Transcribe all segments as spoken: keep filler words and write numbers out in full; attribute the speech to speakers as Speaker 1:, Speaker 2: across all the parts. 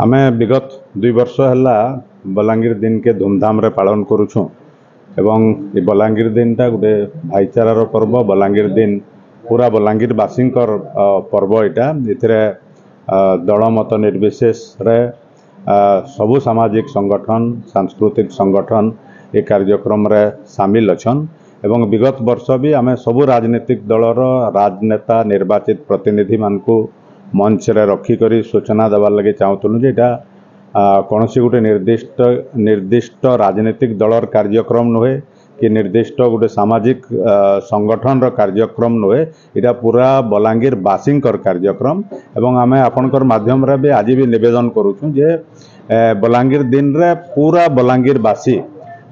Speaker 1: ଆମେ ବିଗତ ଦୁଇ ବର୍ଷ ହେଲା ବଲାଙ୍ଗୀର ଦିନକେ ଧୁମଧାମରେ ପାଳନ କରୁଛୁଁ ଏବଂ ଏ ବଲାଙ୍ଗୀର ଦିନଟା ଗୋଟେ ଭାଇଚାରାର ପର୍ବ। ବଲାଙ୍ଗୀର ଦିନ ପୁରା ବଲାଙ୍ଗୀରବାସୀଙ୍କର ପର୍ବ ଏଇଟା। ଏଥିରେ ଦଳ ମତ ନିର୍ବିଶେଷରେ ସବୁ ସାମାଜିକ ସଂଗଠନ, ସାଂସ୍କୃତିକ ସଂଗଠନ ଏ କାର୍ଯ୍ୟକ୍ରମରେ ସାମିଲ ଅଛନ୍ ଏବଂ ବିଗତ ବର୍ଷ ବି ଆମେ ସବୁ ରାଜନୈତିକ ଦଳର ରାଜନେତା, ନିର୍ବାଚିତ ପ୍ରତିନିଧିମାନଙ୍କୁ ମଞ୍ଚରେ ରଖିକରି ସୂଚନା ଦେବାର୍ ଲାଗି ଚାହୁଁଥିଲୁ ଯେ ଏଇଟା କୌଣସି ଗୋଟେ ନିର୍ଦ୍ଦିଷ୍ଟ ନିର୍ଦ୍ଦିଷ୍ଟ ରାଜନୈତିକ ଦଳର କାର୍ଯ୍ୟକ୍ରମ ନୁହେଁ କି ନିର୍ଦ୍ଦିଷ୍ଟ ଗୋଟେ ସାମାଜିକ ସଂଗଠନର କାର୍ଯ୍ୟକ୍ରମ ନୁହେଁ, ଏଇଟା ପୁରା ବଲାଙ୍ଗୀରବାସୀଙ୍କର କାର୍ଯ୍ୟକ୍ରମ। ଏବଂ ଆମେ ଆପଣଙ୍କର ମାଧ୍ୟମରେ ବି ଆଜି ବି ନିବେଦନ କରୁଛୁ ଯେ ବଲାଙ୍ଗୀର ଦିନରେ ପୁରା ବଲାଙ୍ଗୀରବାସୀ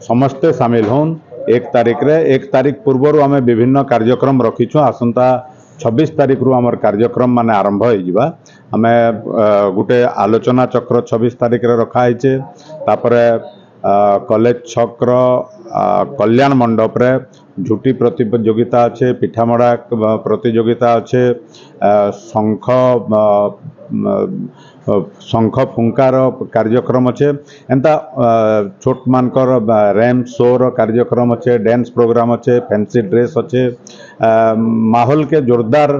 Speaker 1: ସମସ୍ତେ ସାମିଲ ହଉନ୍ ଏକ ତାରିଖରେ। ଏକ ତାରିଖ ପୂର୍ବରୁ ଆମେ ବିଭିନ୍ନ କାର୍ଯ୍ୟକ୍ରମ ରଖିଛୁ। ଆସନ୍ତା ଛବିଶ ତାରିଖରୁ ଆମର କାର୍ଯ୍ୟକ୍ରମ ମାନେ ଆରମ୍ଭ ହେଇଯିବା। ଆମେ ଗୋଟେ ଆଲୋଚନା ଚକ୍ର ଛବିଶ ତାରିଖରେ ରଖା ହେଇଛେ। ତାପରେ କଲେଜ ଛକର କଲ୍ୟାଣ ମଣ୍ଡପରେ ଝୁଟି ପ୍ରତିଯୋଗିତା ଅଛେ, ପିଠାମଡ଼ା ପ୍ରତିଯୋଗିତା ଅଛେ, ଶଙ୍ଖ ଶଙ୍ଖ ଫୁଙ୍କାର କାର୍ଯ୍ୟକ୍ରମ ଅଛେ, ଏନ୍ତା ଛୋଟମାନଙ୍କର ର୍ୟାମ୍ପ ଶୋର କାର୍ଯ୍ୟକ୍ରମ ଅଛେ, ଡ୍ୟାନ୍ସ ପ୍ରୋଗ୍ରାମ ଅଛେ, ଫ୍ୟାନ୍ସି ଡ୍ରେସ୍ ଅଛେ। ମାହୋଲକେ ଜୋରଦାର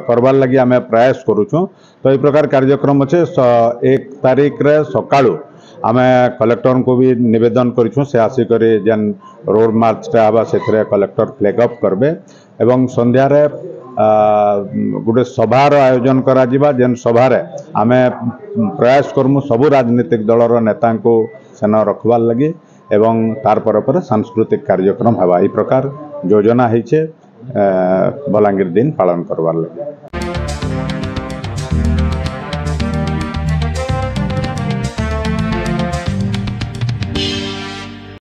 Speaker 1: କରବାର୍ ଲାଗି ଆମେ ପ୍ରୟାସ କରୁଛୁଁ। ତ ଏଇ ପ୍ରକାର କାର୍ଯ୍ୟକ୍ରମ ଅଛେ। ଏକ ତାରିଖରେ ସକାଳୁ ଆମେ କଲେକ୍ଟରଙ୍କୁ ବି ନିବେଦନ କରିଛୁଁ, ସେ ଆସିକରି ଯେନ୍ ରୋଡ଼ ମାର୍ଚ୍ଚଟା ହେବା ସେଥିରେ କଲେକ୍ଟର ଫ୍ଲାଗ ଅଫ୍ କରିବେ ଏବଂ ସନ୍ଧ୍ୟାରେ ଗୋଟେ ସଭାର ଆୟୋଜନ କରାଯିବା, ଯେନ୍ ସଭାରେ ଆମେ ପ୍ରୟାସ କରମୁ ସବୁ ରାଜନୈତିକ ଦଳର ନେତାଙ୍କୁ ସେନ ରଖବାର୍ ଲାଗି ଏବଂ ତାର ପରେ ପରେ ସାଂସ୍କୃତିକ କାର୍ଯ୍ୟକ୍ରମ ହେବା। ଏଇ ପ୍ରକାର ଯୋଜନା ହେଇଛେ ବଲାଙ୍ଗୀର ଦିନ ପାଳନ କରବାର୍ ଲାଗି।